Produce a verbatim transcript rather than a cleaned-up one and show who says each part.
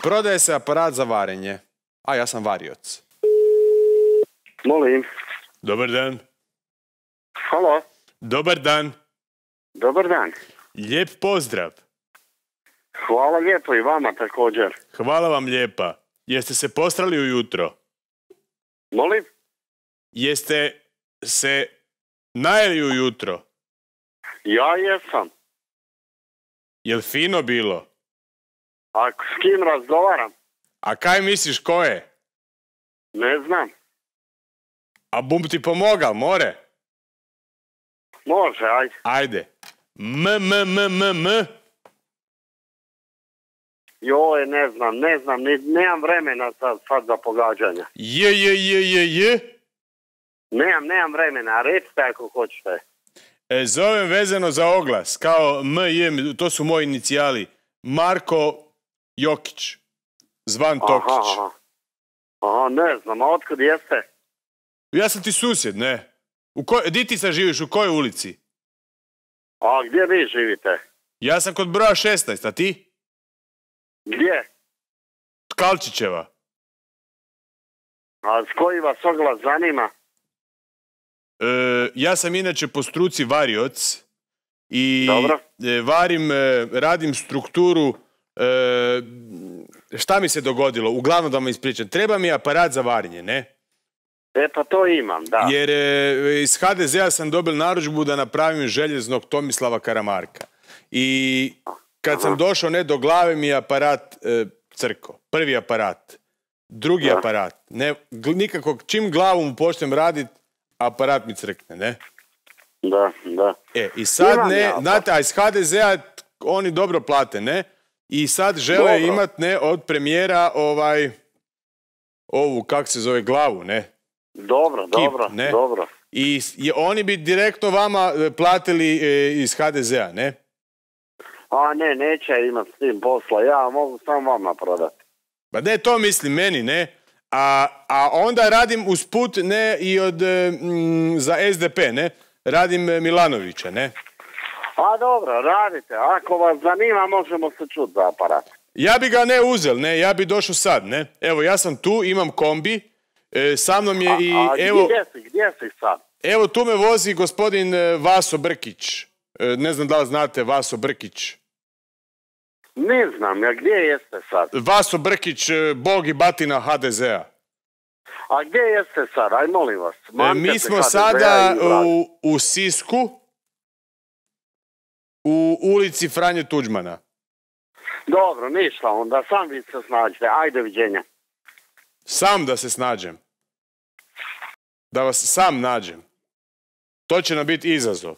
Speaker 1: Prodaje se aparat za varenje. A ja sam varioc.
Speaker 2: Molim.
Speaker 1: Dobar dan.
Speaker 2: Halo.
Speaker 1: Dobar dan.
Speaker 2: Dobar dan.
Speaker 1: Lijep pozdrav.
Speaker 2: Hvala lijepo i vama također.
Speaker 1: Hvala vam lijepa. Jeste se postrali ujutro?
Speaker 2: Molim?
Speaker 1: Jeste se najeli ujutro?
Speaker 2: Ja jesam.
Speaker 1: Jel fino bilo?
Speaker 2: A s kim razgovaram?
Speaker 1: A kaj misliš ko je?
Speaker 2: Ne znam.
Speaker 1: A bum ti pomogal, more?
Speaker 2: Može, ajde.
Speaker 1: Ajde. M, m, m, m, m.
Speaker 2: Joj, ne znam, ne znam, ni, nemam vremena sad, sad za pogađanja.
Speaker 1: J, j, j, j, j.
Speaker 2: Nemam, nemam vremena, recite ako hoćete.
Speaker 1: E, zovem vezano za oglas, kao M, J, to su moji inicijali. Marko Jokić, zvan Tokić.
Speaker 2: Aha, aha. Aha, ne znam, a otkud jeste?
Speaker 1: Ja sam ti susjed, ne? U koj, di ti sad živiš, u kojoj ulici?
Speaker 2: A gdje vi živite?
Speaker 1: Ja sam kod broja šesnaest, a ti?
Speaker 2: Gdje?
Speaker 1: Tkalčićeva.
Speaker 2: A s koji vas oglas zanima?
Speaker 1: E, ja sam inače po struci varioc i
Speaker 2: Dobro.
Speaker 1: E, varim, e, radim strukturu. E, šta mi se dogodilo? Uglavnom da vam ispričam. Treba mi aparat za varenje, ne?
Speaker 2: E pa to imam, da.
Speaker 1: Jer e, iz ha de zea sam dobil narudžbu da napravim željeznog Tomislava Karamarka. I kad sam došao ne do glave mi je aparat e, crko. Prvi aparat. Drugi
Speaker 2: da.
Speaker 1: aparat. Ne, nikako, čim glavom počnem radit, aparat mi crkne, ne?
Speaker 2: Da, da.
Speaker 1: E, i sad
Speaker 2: Imam
Speaker 1: ne,
Speaker 2: ja,
Speaker 1: znate, a iz ha de zea oni dobro plate, ne? I sad žele
Speaker 2: dobro.
Speaker 1: imat, ne, od premijera ovaj, ovu, kak se zove, glavu, ne?
Speaker 2: Dobro,
Speaker 1: Kip,
Speaker 2: dobro,
Speaker 1: ne?
Speaker 2: dobro.
Speaker 1: I, i oni bi direktno vama e, platili e, iz ha de zea, ne?
Speaker 2: A ne, neće imat s tim posla, ja mogu samo vama prodati.
Speaker 1: Pa ne, to mislim meni, ne? A, a onda radim usput, ne, i od, m, za es de pe, ne? Radim e, Milanovića, ne?
Speaker 2: A dobro, radite, ako vas zanima možemo se čuti za aparat.
Speaker 1: Ja bi ga ne uzel, ne, ja bi došao sad, ne? Evo, ja sam tu, imam kombi, e, sa mnom je
Speaker 2: A,
Speaker 1: i,
Speaker 2: a
Speaker 1: evo...
Speaker 2: gdje si, gdje si sad?
Speaker 1: Evo, tu me vozi gospodin e, Vaso Brkić. E, ne znam da li znate Vaso Brkić.
Speaker 2: Ne znam, ja gdje jeste sad?
Speaker 1: Vaso Brkić, e, bog i batina ha de zea.
Speaker 2: A gdje jeste sad, aj molim vas.
Speaker 1: E,
Speaker 2: Mamte
Speaker 1: mi
Speaker 2: se
Speaker 1: smo
Speaker 2: ha de zea
Speaker 1: sada
Speaker 2: i vlast.
Speaker 1: u, u Sisku, u ulici Franje Tuđmana.
Speaker 2: Dobro, ništa onda, sam vi se snađite, ajde viđenja.
Speaker 1: Sam da se snađem. Da vas sam nađem. To će nam biti izazov.